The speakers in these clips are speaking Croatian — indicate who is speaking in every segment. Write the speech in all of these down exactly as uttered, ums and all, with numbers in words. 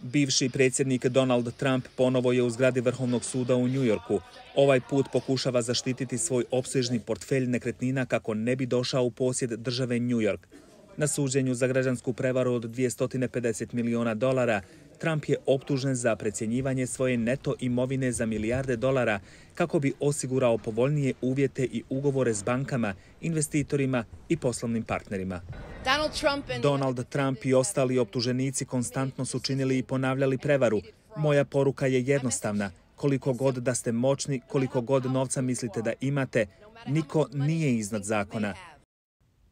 Speaker 1: Bivši predsjednik Donald Trump ponovo je u zgradi Vrhovnog suda u New Yorku. Ovaj put pokušava zaštititi svoj opsežni portfelj nekretnina kako ne bi došao u posjed države New York. Na suđenju za građansku prevaru od dvjesto pedeset miliona dolara, Trump je optužen za precjenjivanje svoje neto imovine za milijarde dolara kako bi osigurao povoljnije uvjete i ugovore s bankama, investitorima i poslovnim partnerima. Donald Trump i ostali optuženici konstantno su činili i ponavljali prevaru. Moja poruka je jednostavna. Koliko god da ste moćni, koliko god novca mislite da imate, niko nije iznad zakona.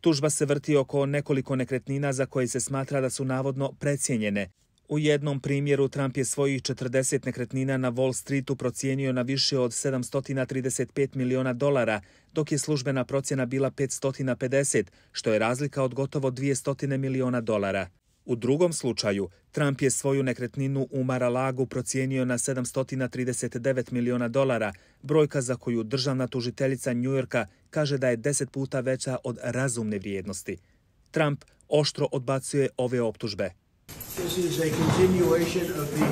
Speaker 1: Tužba se vrti oko nekoliko nekretnina za koje se smatra da su navodno precijenjene. U jednom primjeru Trump je svojih četrdeset nekretnina na Wall Streetu procijenio na više od sedamsto trideset pet miliona dolara, dok je službena procjena bila petsto pedeset, što je razlika od gotovo dvjesto miliona dolara. U drugom slučaju, Trump je svoju nekretninu u Mar-a-Lagu procijenio na sedamsto trideset devet miliona dolara, brojka za koju državna tužiteljica New Yorka kaže da je deset puta veća od razumne vrijednosti. Trump oštro odbacuje ove optužbe.
Speaker 2: This is a continuation of the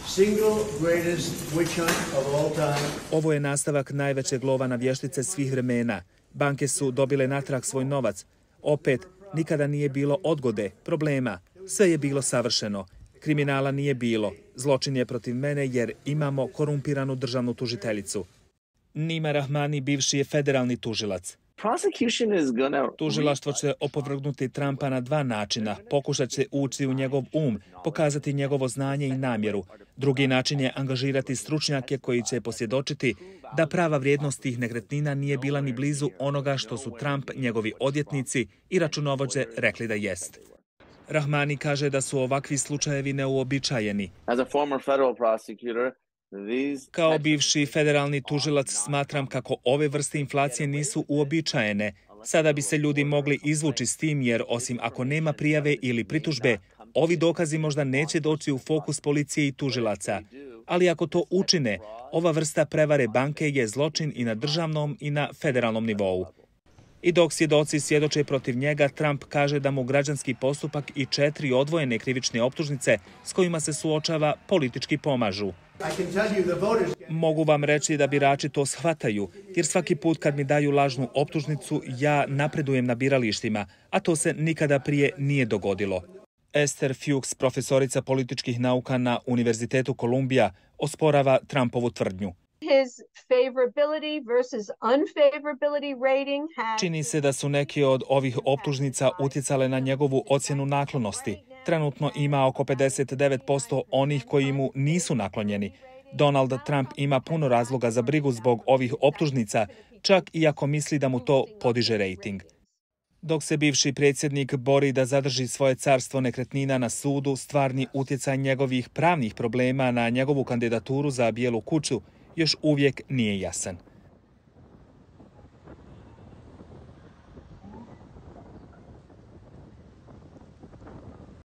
Speaker 2: single greatest witch hunt of all time.
Speaker 1: Ovo je nastavak najvećeg lova na vještice svih vremena. Banke su dobile natrag svoj novac. Opet, nikada nije bilo odgode, problema. Sve je bilo savršeno. Kriminala nije bilo. Zločin je protiv mene jer imamo korumpiranu državnu tužiteljicu. Nima Rahmani bivši je federalni tužilac. Tužilaštvo će opovrgnuti Trumpa na dva načina. Pokušat će ući u njegov um, pokazati njegovo znanje i namjeru. Drugi način je angažirati stručnjake koji će posvjedočiti da prava vrijednost tih nekretnina nije bila ni blizu onoga što su Trump, njegovi odvjetnici i računovođe rekli da jest. Rahmani kaže da su ovakvi slučajevi neuobičajeni. Kao bivši federalni tužilac smatram kako ove vrste inflacije nisu uobičajene. Sada bi se ljudi mogli izvući s tim jer osim ako nema prijave ili pritužbe, ovi dokazi možda neće doći u fokus policije i tužilaca. Ali ako to učine, ova vrsta prevare banke je zločin i na državnom i na federalnom nivou. I dok svjedoci svjedoče protiv njega, Trump kaže da mu građanski postupak i četiri odvojene krivične optužnice s kojima se suočava politički pomažu. Mogu vam reći da birači to shvataju, jer svaki put kad mi daju lažnu optužnicu, ja napredujem na biralištima, a to se nikada prije nije dogodilo. Esther Fuchs, profesorica političkih nauka na Univerzitetu Kolumbija, osporava Trumpovu tvrdnju. Čini se da su neki od ovih optužnica utjecale na njegovu ocjenu naklonosti. Trenutno ima oko pedeset devet posto onih koji mu nisu naklonjeni. Donald Trump ima puno razloga za brigu zbog ovih optužnica, čak i ako misli da mu to podiže rejting. Dok se bivši predsjednik bori da zadrži svoje carstvo nekretnina na sudu, stvarni utjecaj njegovih pravnih problema na njegovu kandidaturu za Bijelu kuću još uvijek nije jasan.